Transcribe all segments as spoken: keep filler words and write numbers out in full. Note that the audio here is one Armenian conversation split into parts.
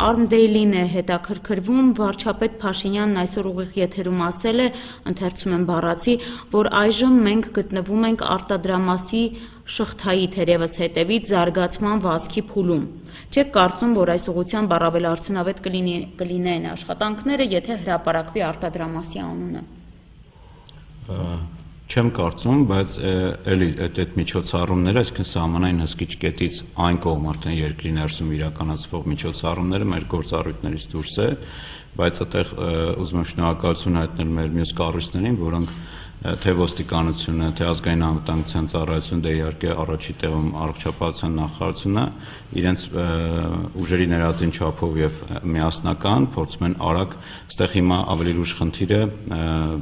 Arm Daily-ն է հետաքրքրվում, վարչապետ Փաշինյանն այսօր ուղիղ եթերում ասել է, ընթերցում եմ բառացի, որ այժմ մենք գտնվում ենք արտադրամասի շղթայի թերևս հետևից զարգացման վազքի փուլում։ Չեք կարծում, որ այս ուղղությամբ առավել արդյունավետ կլինեն աշխատանքները, եթե հրապարակվի արտադրամասի անունը։ Չեմ կարծում, բայց էլի այդ միջոցառումները, այսինքն սահմանային հսկիչ կետից այն կողմ արդեն երկրի ներսում իրականացվող միջոցառումները մեր գործառույթներից դուրս է, բայց այդտեղ ուզում եմ շնորհակալություն հայտնել մեր մյուս կառույցներին, որոնք թե ոստիկանությունը, թե ազգային անվտանգության ծառայությունը, դե իհարկե առաջի տեղում առողջապահության նախարարությունը իրենց ուժերի ներածին չափով եւ միասնական փորձում են արագ այստեղ հիմա ավելի լուրջ խնդիրը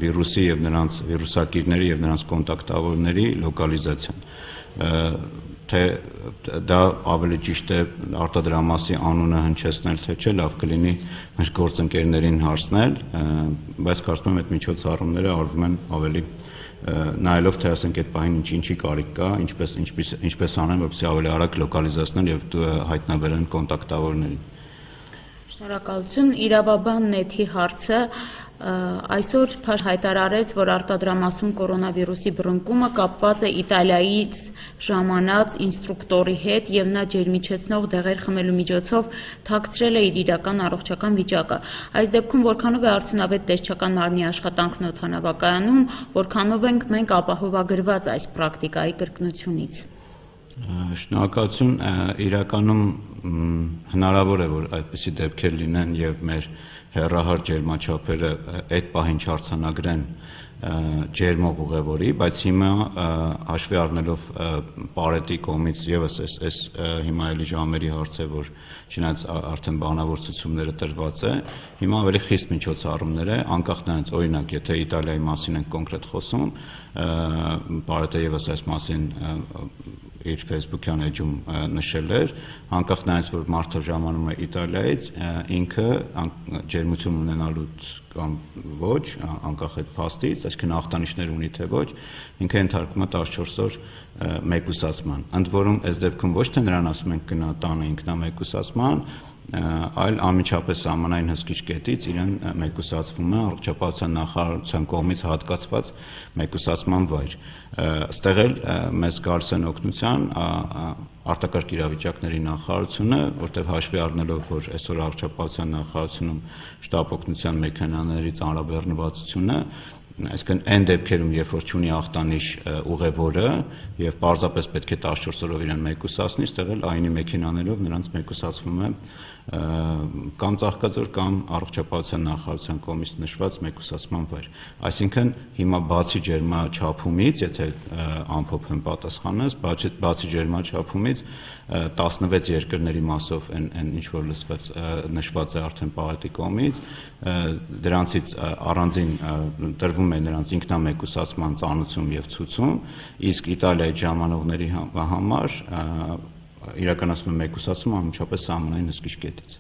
վիրուսի եւ նրանց վիրուսակիրների եւ նրանց կոնտակտավորների լոկալիզացիան, թե դա ավելի ճիշտ է արտադրամասի անունը հնչեցնել, թե չէ, լավ կլինի մեր գործընկերներին հարցնել, բայց կարծում եմ այդ միջոցառումները արվում են ավելի նայելով, թե ասենք այդ պահին ինչ-ինչի կարիք կա, ինչպես ինչպես անեն, որպեսզի ավելի արագ լոկալիզացնեն եւ հայտնաբերեն կոնտակտավորներին։ Շնորհակալություն։ Իրավաբան նեթի հարցը այսօր հայտարարեց, որ արտադրամասում կորոնավիրուսի բռնկումը կապված է Իտալիայից ժամանած ինստրուկտորի հետ եւ նա ջերմիչեցնող դեղեր խմելու միջոցով թաքցրել է իր իրական առողջական վիճակը։ Այս դեպքում որքանով է արդյունավետ տեսչական մարմնի աշխատանքն օդանավակայանում, որքանով ենք մենք ապահովագրված այս պրակտիկայի կրկնությունից։ Շնորհակալություն, իրականում հնարավոր է, որ այդպիսի դեպքեր լինեն եւ մեր հեռահար ջերմաչափերը այդ պահին չարձանագրեն ջերմող ուղևորի, բայց հիմա հաշվի առնելով Պարետի կողմից եւս այս հիմա էլի ժամերի հարց է, որ չնայած արդեն բանավոր ցուցումները տրված է, հիմա ավելի խիստ միջոցառումներ է, անկախ նրանից, օրինակ, եթե Իտալիայի մասին ենք կոնկրետ խոսում, Պարետը եւս այս մասին իր Facebook-յան էջում նշել էր, անկախ նրանից, որ մարդը ժամանում է Իտալիայից, ինքը ջերմություն ունենալու կամ ոչ, անկախ այդ փաստից, այսինքն ախտանիշներ ունի թե ոչ, ինքը ենթարկվում է տասնչորս օր մեկուսացման։ Ընդ որում, այս դեպքում ոչ թե նրան ասում ենք գնա տանը ինքնամեկուսացման, այլ անմիջապես սահմանային հսկիչ կետից իրեն մեկուսացվում է առողջապահության նախարարության կողմից հատկացված մեկուսացման վայր։ Ստեղ էլ մեզ գալիս են օգնության արտակարգ իրավիճակների նախարարությունը, որտեղ հաշվի առնելով, որ այսօր առողջապահության նախարարությունում շտապ օգնության մեքենաների ծանրաբեռնվածությունը, այսինքն այն դեպքերում, երբ որ չունի ախտանիշ ուղևորը եւ պարզապես պետք է տասնչորս օրով իրեն մեկուսացնի, ստեղ էլ այնի մեքենաներով նրանց մեկուսացվում է կամ Ծաղկաձոր կամ առողջապահության նախարարության կողմից նշված մեկուսացման վայր։ Այսինքն հիմա բացի ջերմաչափումից, եթե ամփոփեմ պատասխանս, բացի ջերմաչափումից տասնվեց երկրների մասով այն ինչ որ լսված նշված է արդեն Պարետի կողմից, դրանցից առանձին տրվում է նրանց ինքնամեկուսացման ծանուցում եւ ցուցում, իսկ Իտալիայի ժամանողների համար իրականացվում է մեկուսացումը անմիջապես սահմանային հսկիչ կետից։